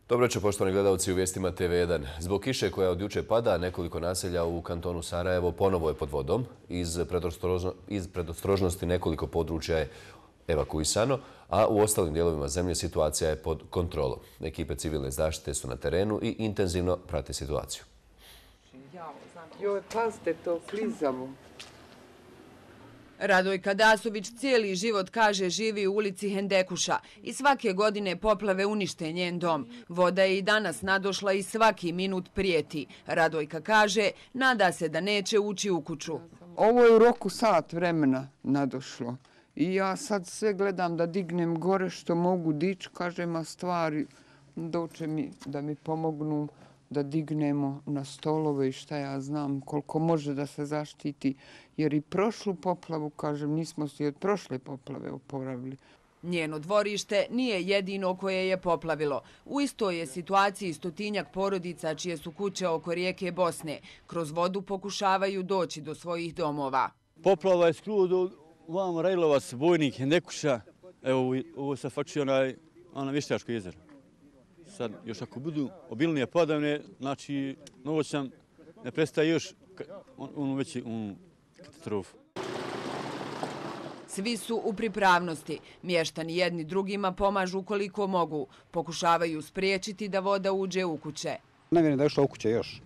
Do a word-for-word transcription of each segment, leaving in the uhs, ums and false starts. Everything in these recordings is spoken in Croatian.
Dobro večer, poštovani gledalci u vijestima T V jedan. Zbog kiše koja od juče pada, nekoliko naselja u kantonu Sarajevo ponovo je pod vodom. Iz, predostrožno, iz predostrožnosti nekoliko područja je evakuisano, a u ostalim dijelovima zemlje situacija je pod kontrolom. Ekipe civilne zaštite su na terenu i intenzivno prate situaciju. Joj, pazite to, klizavo. Radojka Dasović cijeli život, kaže, živi u ulici Hendekuša i svake godine poplave unište njen dom. Voda je i danas nadošla i svaki minut prijeti. Radojka kaže, nada se da neće ući u kuću. Ovo je u roku sat vremena nadošlo. I ja sad sve gledam da dignem gore što mogu dići, kažem, a stvari doće mi da mi pomognu da dignemo na stolove i šta ja znam, koliko može da se zaštiti. Jer i prošlu poplavu, kažem, nismo se od prošle poplave oporavili. Njeno dvorište nije jedino koje je poplavilo. U istoj je situaciji stotinjak porodica čije su kuće oko rijeke Bosne. Kroz vodu pokušavaju doći do svojih domova. Poplava je skroz do vam Rajlovac, Bojnik, Hendekuša. Evo, ovo se fači onaj, ona Vještačko jezero. Sad, još ako budu obilnije padavine, znači novoćan ne prestaje još onu veći katastrofu. Svi su u pripravnosti. Mještani jedni drugima pomažu koliko mogu. Pokušavaju spriječiti da voda uđe u kuće. Ne vjerujem da je ušla u kuće još.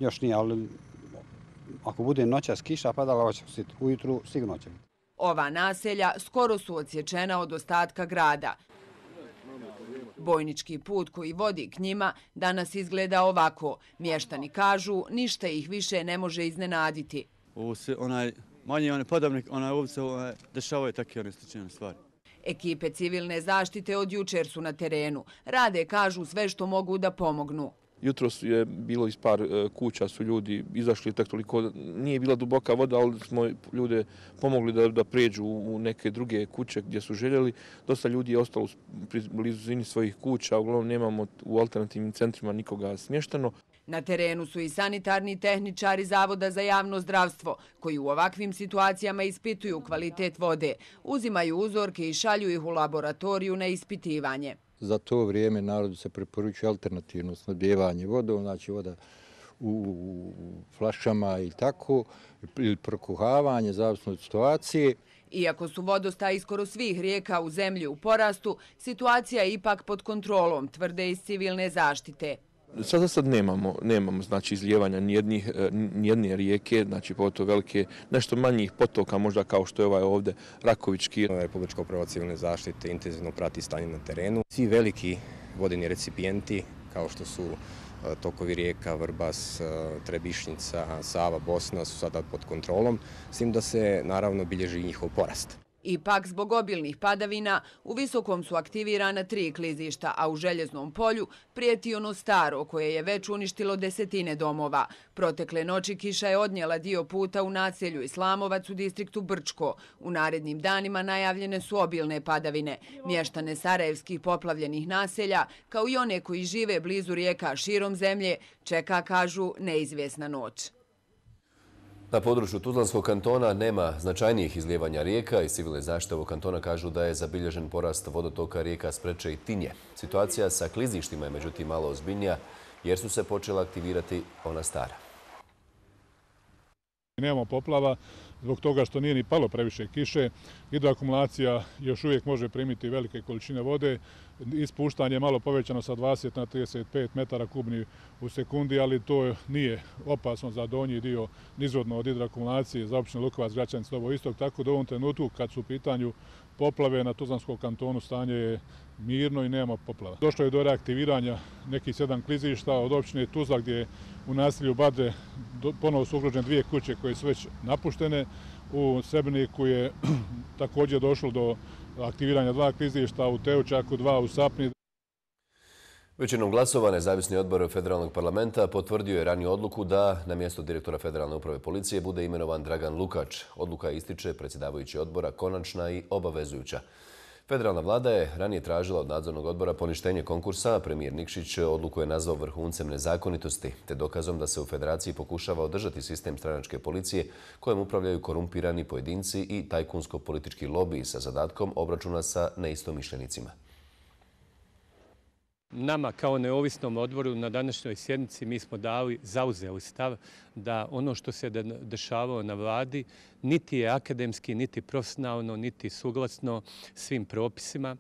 Još nije, ali ako bude noćas kiša padala, ujutru sigurno će biti. Ova naselja skoro su odsječena od ostatka grada. Bojnički put koji vodi k njima danas izgleda ovako. Mještani kažu, ništa ih više ne može iznenaditi. Ovo se onaj manji onaj padavnik, onaj ovce onaj, dešavaju takve one slične stvari. Ekipe civilne zaštite od jučer su na terenu. Rade, kažu, sve što mogu da pomognu. Jutros je bilo iz par kuća, su ljudi izašli, tako toliko, nije bila duboka voda, ali smo ljude pomogli da, da pređu u neke druge kuće gdje su željeli. Dosta ljudi je ostalo u blizini svojih kuća, uglavnom nemamo u alternativnim centrima nikoga smješteno. Na terenu su i sanitarni tehničari Zavoda za javno zdravstvo, koji u ovakvim situacijama ispituju kvalitet vode, uzimaju uzorke i šalju ih u laboratoriju na ispitivanje. Za to vrijeme narodu se preporučuje alternativno snabdijevanje vodom, znači voda u flašama i tako, ili prokuhavanje, zavisno od situacije. Iako su vodostaji skoro svih rijeka u zemlji u porastu, situacija je ipak pod kontrolom, tvrde iz civilne zaštite. Sada sad nemamo, nemamo znači izlijevanja nijednih, nijedne rijeke, znači pogotovo velike, nešto manjih potoka, možda kao što je ovaj ovdje Rakovički. Republička uprava civilne zaštite intenzivno prati stanje na terenu. Svi veliki vodeni recipijenti, kao što su tokovi rijeka, Vrbas, Trebišnjica, Sava, Bosna, su sada pod kontrolom, s tim da se naravno bilježi njihov porast. Ipak, zbog obilnih padavina, u Visokom su aktivirana tri klizišta, a u Željeznom polju prijeti ono staro koje je već uništilo desetine domova. Protekle noći kiša je odnijela dio puta u naselju Islamovac u distriktu Brčko. U narednim danima najavljene su obilne padavine. Mještane sarajevskih poplavljenih naselja, kao i one koji žive blizu rijeka širom zemlje, čeka, kažu, neizvjesna noć. Na području Tuzlanskog kantona nema značajnijih izlijevanja rijeka i civilne zaštite ovog kantona kažu da je zabilježen porast vodotoka rijeka Spreče i Tinje. Situacija sa klizištima je međutim malo ozbiljnija jer su se počela aktivirati ona stara. Nemamo poplava zbog toga što nije ni palo previše kiše. Hidroakumulacija još uvijek može primiti velike količine vode. Ispuštanje je malo povećano sa dvadeset na trideset pet metara kubnih u sekundi, ali to nije opasno za donji dio nizvodno od hidroakumulacije za općinu Lukovac, Gračanin, Novo Istok. Tako da u ovom trenutku kad su u pitanju poplave na Tuzlanskom kantonu stanje je mirno i nema poplava. Došlo je do reaktiviranja nekih sedam klizišta od općine Tuzla gdje u naselju Badre ponovo su ugrožene dvije kuće koje su već napuštene. U Srebrniku je također došlo do aktiviranja dva klizišta, u Teučaku dva, u Sapni. Većinom glasova nezavisni odbor Federalnog parlamenta potvrdio je raniju odluku da na mjesto direktora Federalne uprave policije bude imenovan Dragan Lukač. Odluka ističe predsjedavajući odbora konačna i obavezujuća. Federalna vlada je ranije tražila od nadzornog odbora poništenje konkursa, a premijer Nikšić odluku je nazvao vrhuncem nezakonitosti, te dokazom da se u federaciji pokušava održati sistem stranačke policije kojem upravljaju korumpirani pojedinci i tajkunsko-politički lobiji sa zadatkom obračuna sa neistomišljenicima. Nama kao neovisnom odboru na današnjoj sjednici mi smo dali, zauzeli stav da ono što se dešavalo na vladi niti je akademski, niti profesionalno, niti suglasno svim propisima.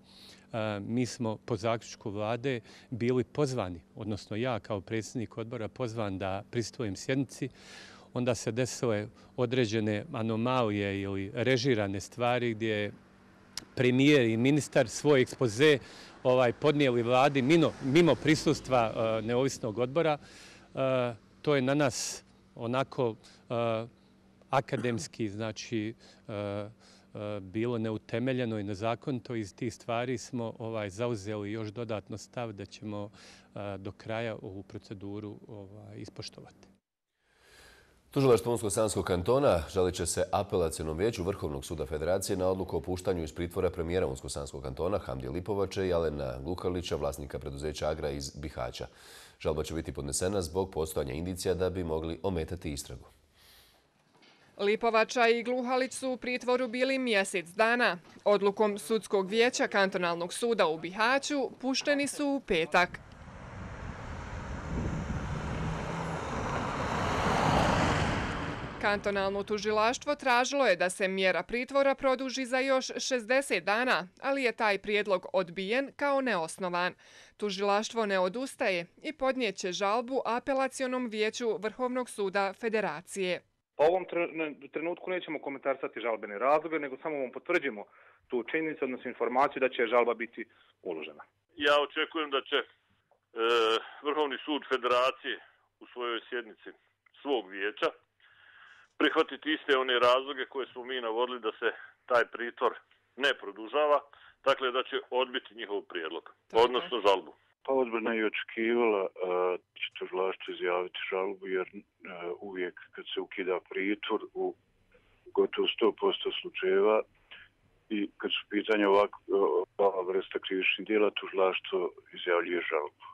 Mi smo po zaključku vlade bili pozvani, odnosno ja kao predsjednik odbora pozvan da prisustvujem sjednici. Onda se desile određene anomalije ili režirane stvari gdje je premijer i ministar svoj ekspoze ovaj, podnijeli vladi mimo, mimo prisustva uh, neovisnog odbora. Uh, to je na nas onako uh, akademski, znači uh, uh, bilo neutemeljeno i nezakonito. Iz tih stvari smo ovaj, zauzeli još dodatno stav da ćemo uh, do kraja ovu proceduru ovaj, ispoštovati. Tužilaštvo Unsko-Sanskog kantona žalit će se apelacionom vijeću Vrhovnog suda Federacije na odluku o puštanju iz pritvora premijera Unsko-Sanskog kantona Hamdije Lipovače i Alena Glukalića, vlasnika preduzeća Agra iz Bihaća. Žalba će biti podnesena zbog postojanja indicija da bi mogli ometati istragu. Lipovača i Gluhalić su u pritvoru bili mjesec dana. Odlukom Sudskog vijeća Kantonalnog suda u Bihaću pušteni su u petak. Kantonalno tužilaštvo tražilo je da se mjera pritvora produži za još šezdeset dana, ali je taj prijedlog odbijen kao neosnovan. Tužilaštvo ne odustaje i podnijeće žalbu apelacionom vijeću Vrhovnog suda Federacije. Po ovom trenutku nećemo komentarisati žalbene razloge, nego samo vam potvrđimo tu činjenicu, odnosno informaciju da će žalba biti uložena. Ja očekujem da će e, Vrhovni sud Federacije u svojoj sjednici svog vijeća prihvatiti iste one razloge koje smo mi navodili da se taj pritvor ne produžava, dakle da će odbiti njihov prijedlog, odnosno žalbu. Pa odbrana je očekivala da će tužilaštvo izjaviti žalbu, jer uh, uvijek kad se ukida pritvor u gotovo sto posto slučajeva i kad su pitanja ovakva vrsta krivičnih djela, tužilaštvo izjavljuje žalbu.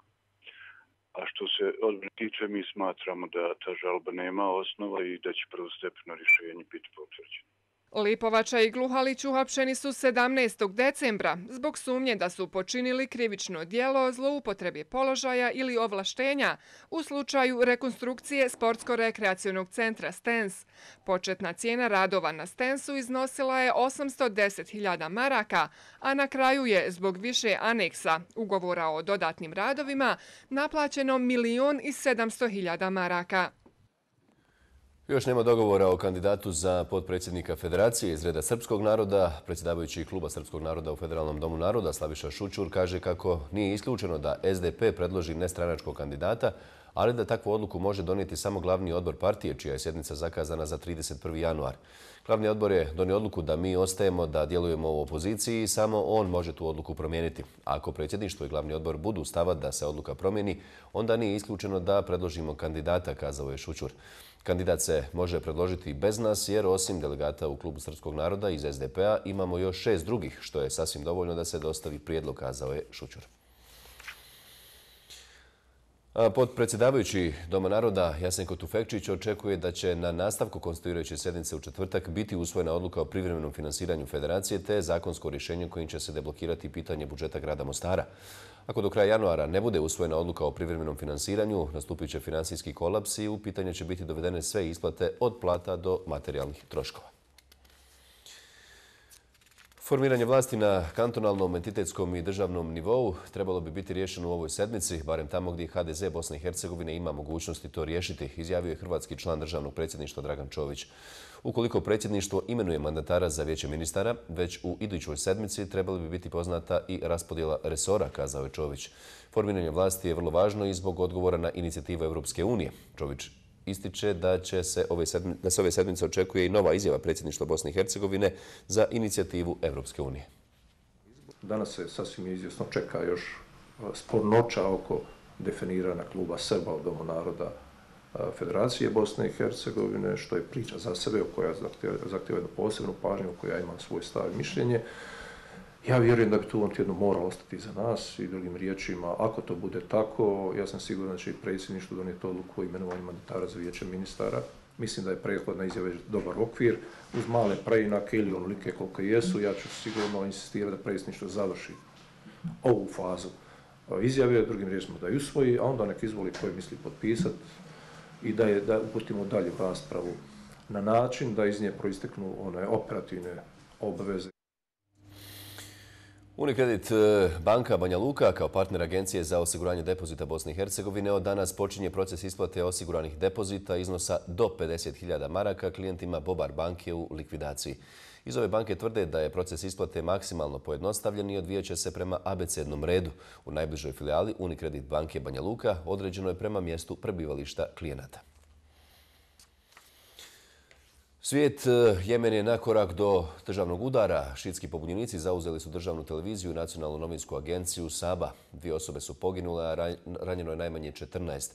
A što se odbrane tiče, mi smatramo da ta žalba nema osnova i da će prvostepeno rješenje biti potvrđeno. Lipovača i Gluhalić uhapšeni su sedamnaestog decembra zbog sumnje da su počinili krivično djelo zloupotrebe položaja ili ovlaštenja u slučaju rekonstrukcije sportsko-rekreacionog centra Stens. Početna cijena radova na Stensu iznosila je osamsto deset hiljada maraka, a na kraju je zbog više aneksa ugovora o dodatnim radovima naplaćeno milion i sedamsto hiljada maraka. Još nema dogovora o kandidatu za potpredsjednika Federacije iz reda srpskog naroda. Predsjedavajući kluba Srpskog naroda u Federalnom domu naroda Slaviša Šućur kaže kako nije isključeno da S D P predloži nestranačkog kandidata, ali da takvu odluku može donijeti samo glavni odbor partije, čija je sjednica zakazana za trideset prvi januar. Glavni odbor je donio odluku da mi ostajemo, da djelujemo u opoziciji i samo on može tu odluku promijeniti. Ako predsjedništvo i glavni odbor budu stava da se odluka promijeni, onda nije isključeno da predložimo kandidata, kazao je Šućur. Kandidat se može predložiti bez nas jer osim delegata u klubu Srpskog naroda iz S D P-a imamo još šest drugih, što je sasvim dovoljno da se dostavi prijedlog, kazao je Šućur. Potpredsjedavajući Doma naroda Jasenko Tufekčić očekuje da će na nastavku konstituirajuće sjednice u četvrtak biti usvojena odluka o privremenom finansiranju Federacije te zakonsko rješenje kojim će se deblokirati pitanje budžeta grada Mostara. Ako do kraja januara ne bude usvojena odluka o privremenom finansiranju, nastupit će finansijski kolaps i u pitanje će biti dovedene sve isplate od plata do materijalnih troškova. Formiranje vlasti na kantonalnom, entitetskom i državnom nivou trebalo bi biti riješeno u ovoj sedmici, barem tamo gdje H D Z Bosne i Hercegovine ima mogućnosti to riješiti, izjavio je hrvatski član državnog predsjedništva Dragan Čović. Ukoliko predsjedništvo imenuje mandatara za vijeće ministara, već u idućoj sedmici trebali bi biti poznata i raspodjela resora, kazao je Čović. Formiranje vlasti je vrlo važno i zbog odgovora na inicijativu Europske unije. Čović ističe da, će se ove sedmice, da se ove sedmice očekuje i nova izjava predsjedništva Bosne i Hercegovine za inicijativu Europske unije. Danas se sasvim izvjesno čeka još spornoća oko definiranja kluba Srba u Domu naroda Federacije Bosne i Hercegovine, što je priča za sebe, koja zahtjeva jednu posebnu pažnju, u kojoj ja imam svoj stav i mišljenje. Ja vjerujem da bi tu on tjedno moralo ostati za nas i drugim riječima, ako to bude tako, ja sam siguran da će i predsjedništvo donijeti odluku o imenovanju mandatara za vijeće ministara. Mislim da je prethodna izjava dobar okvir, uz male preinake ili onolike koliko jesu, ja ću sigurno insistirati da predsjedništvo završi ovu fazu izjave, drugim riječima da je usvoji, a onda nek izvoli koji misli potpisati i da je da uputimo dalje raspravu na način da iz nje proisteknu one operativne obaveze. Unicredit banka Banja Luka kao partner Agencije za osiguranje depozita Bosne i Hercegovine od danas počinje proces isplate osiguranih depozita iznosa do pedeset hiljada maraka klijentima Bobar banke u likvidaciji. Iz ove banke tvrde da je proces isplate maksimalno pojednostavljen i odvijat će se prema abecednom redu. U najbližoj filijali Unicredit banke Banja Luka određeno je prema mjestu prebivališta klijenata. Svijet, Jemen je na korak do državnog udara. Šiitski pobunjenici zauzeli su državnu televiziju i nacionalnu novinsku agenciju Saba. Dvije osobe su poginule, a ranjeno je najmanje četrnaest.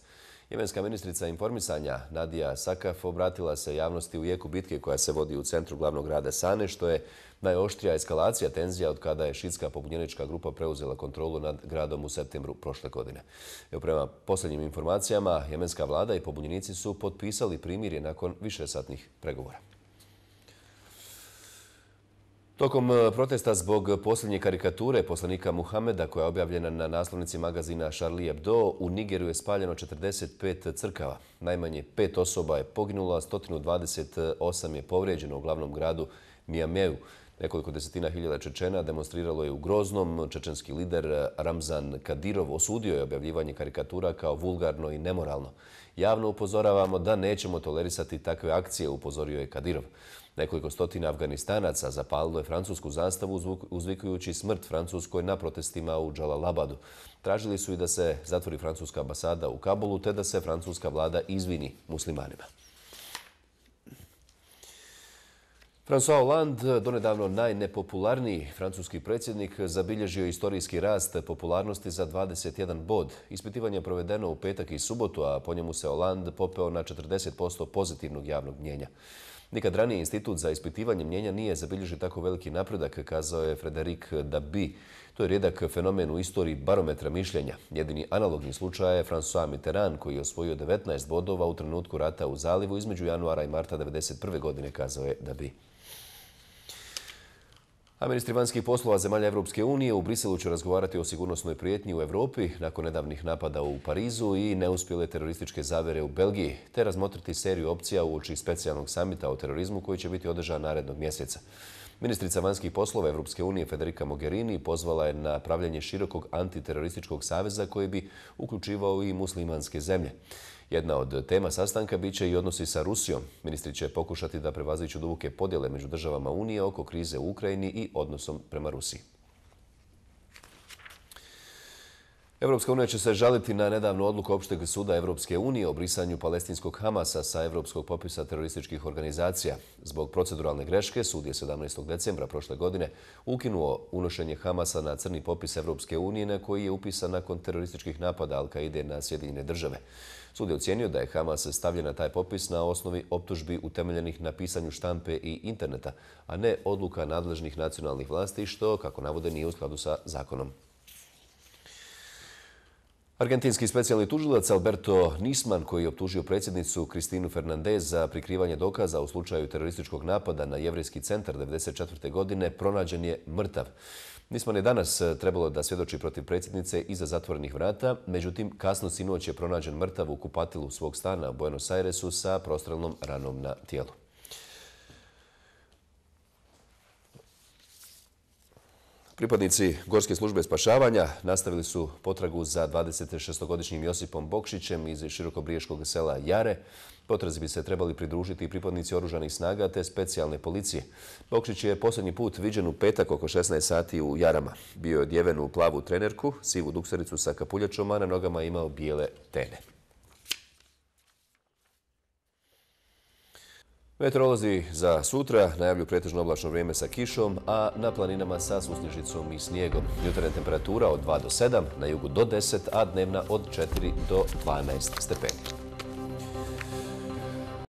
Jemenska ministrica informisanja Nadija Sakaf obratila se javnosti u jeku bitke koja se vodi u centru glavnog grada Sane, što je najoštrija eskalacija tenzija od kada je šiitska pobunjenička grupa preuzela kontrolu nad gradom u septembru prošle godine. Evo, prema posljednjim informacijama, jemenska vlada i pobunjenici su potpisali primirje nakon višesatnih pregovora. Tokom protesta zbog posljednje karikature poslanika Muhameda koja je objavljena na naslovnici magazina Charlie Hebdo, u Nigeru je spaljeno četrdeset pet crkava. Najmanje pet osoba je poginulo, a sto dvadeset osam je povrijeđeno u glavnom gradu Niameu. Nekoliko desetina hiljada Čečena demonstriralo je u Groznom. Čečenski lider Ramzan Kadirov osudio je objavljivanje karikatura kao vulgarno i nemoralno. Javno upozoravamo da nećemo tolerisati takve akcije, upozorio je Kadirov. Nekoliko stotina Afganistanaca zapalilo je francusku zastavu uzvikujući smrt Francuskoj na protestima u Džalalabadu. Tražili su i da se zatvori francuska ambasada u Kabulu te da se francuska vlada izvini muslimanima. François Hollande, donedavno najnepopularniji francuski predsjednik, zabilježio istorijski rast popularnosti za dvadeset jedan bod. Ispitivanje je provedeno u petak i subotu, a po njemu se Hollande popeo na četrdeset posto pozitivnog javnog mnijenja. Nikad ranije institut za ispitivanje mnijenja nije zabilježio tako veliki napredak, kazao je Frédéric Dabi. To je rijedak fenomen u istoriji barometra mišljenja. Jedini analogni slučaj je François Mitterrand, koji je osvojio devetnaest bodova u trenutku rata u Zalivu između januara i marta devedeset prve godine, kazao je Dabi. A ministri vanjskih poslova zemalja Evropske unije u Briselu će razgovarati o sigurnosnoj prijetnji u Europi nakon nedavnih napada u Parizu i neuspjele terorističke zavere u Belgiji, te razmotriti seriju opcija uoči specijalnog samita o terorizmu koji će biti održan narednog mjeseca. Ministrica vanjskih poslova Evropske unije Federica Mogherini pozvala je na pravljenje širokog antiterorističkog saveza koji bi uključivao i muslimanske zemlje. Jedna od tema sastanka bit će i odnosi sa Rusijom. Ministri će pokušati da prevaziđu duboke podjele među državama Unije oko krize u Ukrajini i odnosom prema Rusiji. Evropska unija će se žaliti na nedavnu odluku Opšteg suda Evropske unije o brisanju palestinskog Hamasa sa Evropskog popisa terorističkih organizacija. Zbog proceduralne greške, sud je sedamnaestog decembra prošle godine ukinuo unošenje Hamasa na crni popis Evropske unije na koji je upisan nakon terorističkih napada Al-Kaide na Sjedinjene države. Sud je ocijenio da je Hamas stavljen na taj popis na osnovi optužbi utemeljenih na pisanju štampe i interneta, a ne odluka nadležnih nacionalnih vlasti, što, kako navode, nije u skladu sa zakonom. Argentinski specijalni tužilac Alberto Nisman, koji je optužio predsjednicu Kristinu Fernandez za prikrivanje dokaza u slučaju terorističkog napada na Jevrejski centar devedeset četvrte godine, pronađen je mrtav. Nisman je danas trebalo da svjedoči protiv predsjednice iza zatvorenih vrata, međutim kasno sinoć je pronađen mrtav u kupatilu svog stana u Buenos Airesu sa prostrelnom ranom na tijelu. Pripadnici Gorske službe spašavanja nastavili su potragu za dvadeset šestogodišnjim Josipom Bokšićem iz širokobriješkog sela Jare. Potrazi bi se trebali pridružiti i pripadnici oružanih snaga te specijalne policije. Bokšić je posljednji put viđen u petak oko šesnaest sati u Jarama. Bio je odjeven u plavu trenerku, sivu duksericu sa kapuljačom, a na nogama imao bijele tene. Meteorolozi za sutra najavljuju pretežno oblačno vrijeme sa kišom, a na planinama sa susnježicom i snijegom. Jutarnja temperatura od dva do sedam, na jugu do deset, a dnevna od četiri do dvanaest stepeni.